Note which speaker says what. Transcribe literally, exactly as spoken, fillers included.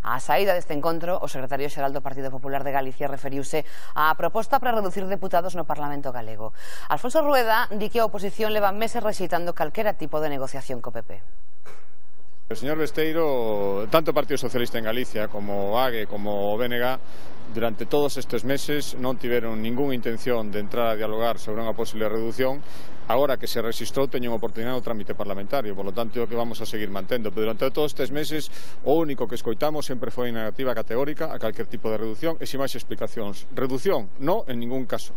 Speaker 1: A saída deste encontro, o secretario xeral do Partido Popular de Galicia referiuse á proposta para reducir deputados no Parlamento galego. Alfonso Rueda di que a oposición leva meses rexeitando calquera tipo de negociación co P P.
Speaker 2: O señor Besteiro, tanto o Partido Socialista en Galicia como o A G E como o B N G durante todos estes meses non tiveron ningunha intención de entrar a dialogar sobre unha posible reducción. Agora que se rexistrou teñen oportunidade no trámite parlamentario, por lo tanto é o que vamos a seguir mantendo, pero durante todos estes meses o único que escoitamos sempre foi negativa categórica a calquer tipo de reducción e sin máis explicacións. Reducción, non en ningún caso.